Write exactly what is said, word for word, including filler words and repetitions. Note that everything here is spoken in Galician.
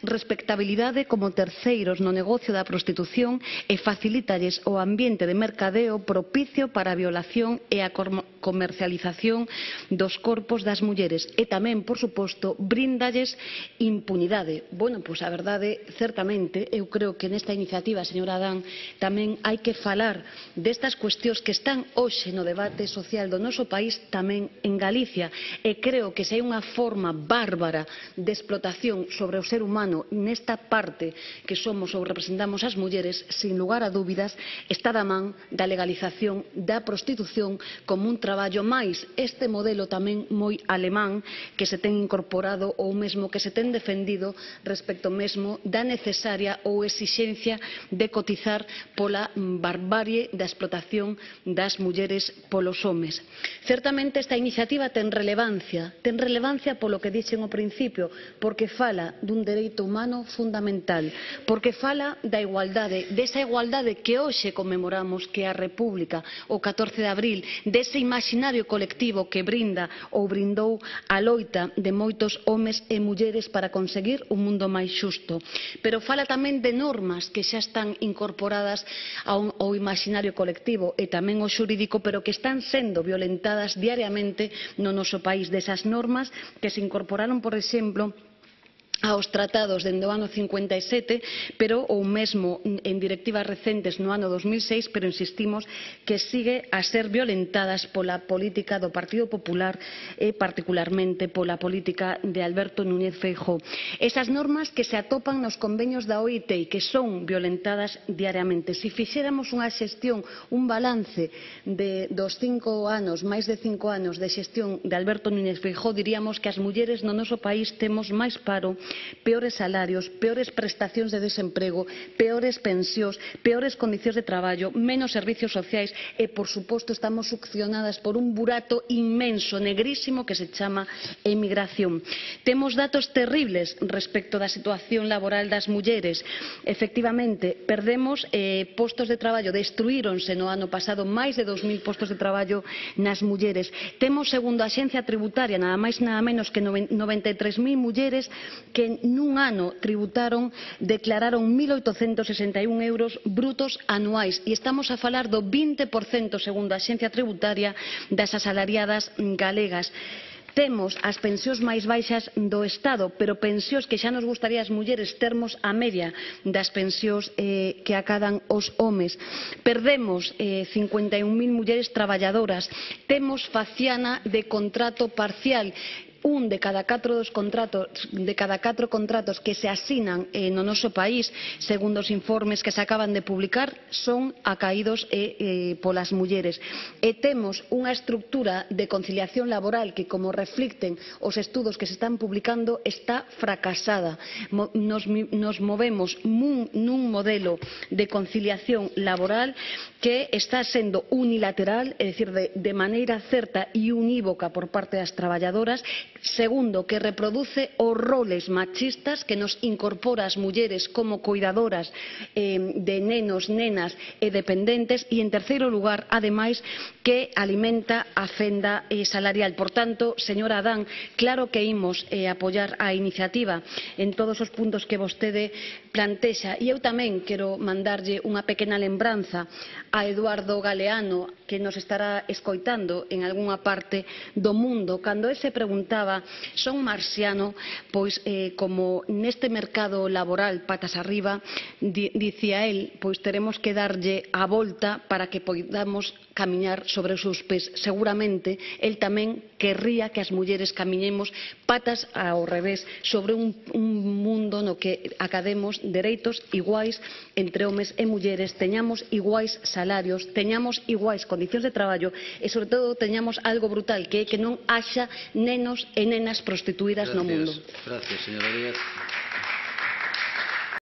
respectabilidade como terceiros no negocio da prostitución e facilítalles o ambiente de mercadeo propicio para a violación e a comercialización dos corpos das mulleres e tamén, por suposto, bríndalles impunidade. Bueno, pois a verdade, certamente, eu creo que nesta iniciativa, señora Adán, tamén hai que falar destas cuestións que están hoxe no debate social do noso país, tamén en Galicia, e creo que se hai unha forma bárbara de explotación sobre o ser humano nesta parte que somos ou representamos as mulleres, sin lugar a dúbidas, está da man da legalización da prostitución como un traballo máis este modelo tamén moi alemán que se ten incorporado ou mesmo que se ten defendido respecto mesmo da necesaria ou exixencia de cotizar pola barbarie da explotación das mulleres polos homes. Certamente esta iniciativa ten relevancia, ten relevancia polo que dixen ao principio, porque fala dun dereito humano fundamental, porque fala da igualdade, desa igualdade que hoxe conmemoramos, que é a República, o catorce de abril, dese imaginario colectivo que brinda ou brindou a loita de moitos homes e mulleres para conseguir un mundo máis xusto. Pero fala tamén de normas que xa están incorporadas ao, ao imaginario colectivo e tamén ao xurídico, pero que están sendo violentadas diariamente no noso país, desas normas que se incorporaron, por exemplo, aos tratados dende o ano cincuenta e sete, pero ou mesmo en directivas recentes no ano dos mil seis, pero insistimos que sigue a ser violentadas pola política do Partido Popular e particularmente pola política de Alberto Núñez Feijóo. Esas normas que se atopan nos convenios da O I T e que son violentadas diariamente. Se fixéramos unha xestión, un balance de, dos cinco anos, máis de cinco anos de xestión de Alberto Núñez Feijóo, diríamos que as mulleres no noso país temos máis paro, peores salarios, peores prestacións de desemprego, peores pensións, peores condicións de traballo, menos servicios sociais e, por suposto, estamos succionadas por un burato inmenso, negrísimo, que se chama emigración. Temos datos terribles respecto da situación laboral das mulleres. Efectivamente, perdemos eh, postos de traballo, destruíronse no ano pasado máis de dos mil postos de traballo nas mulleres. Temos, segundo a Axencia Tributaria, nada máis nada menos que noventa e tres mil mulleres que nun ano tributaron, declararon mil oitocentos sesenta e un euros brutos anuais e estamos a falar do vinte por cento, segundo a Axencia Tributaria, das asalariadas galegas. Temos as pensións máis baixas do Estado, pero pensións que xa nos gustaría as mulleres termos a media das pensións eh, que acadan os homes. Perdemos eh, cincuenta e un mil mulleres traballadoras. Temos faciana de contrato parcial. Un de cada catro dos contratos, de cada catro contratos que se asinan eh, no noso país, segundo os informes que se acaban de publicar, son acaídos eh, eh, polas mulleres. E temos unha estructura de conciliación laboral que, como reflicten os estudos que se están publicando, está fracasada. Mo, nos, nos movemos nun, nun modelo de conciliación laboral que está sendo unilateral, é dicir, de, de maneira certa e unívoca por parte das traballadoras. Segundo, que reproduce os roles machistas que nos incorpora as mulleres como cuidadoras eh, de nenos, nenas e dependentes. E, en terceiro lugar, ademais, que alimenta a fenda eh, salarial. Por tanto, señora Adán, claro que imos eh, apoiar a iniciativa en todos os puntos que vostede plantexa. E eu tamén quero mandarlle unha pequena lembranza a Eduardo Galeano, que nos estará escoitando en algunha parte do mundo, cando el se preguntaba: son marxiano? Pois eh, como neste mercado laboral patas arriba, di, dicía el, pois teremos que darlle a volta para que podamos camiñar sobre os seus pés. Seguramente el tamén querría que as mulleres camiñemos patas ao revés sobre un, un mundo no que academos dereitos iguais entre homes e mulleres, teñamos iguais salarios, teñamos iguais condicións de traballo e, sobre todo, teñamos algo brutal, que é que non haxa nenos e nenas prostituídas no mundo. Gracias, señora Díaz.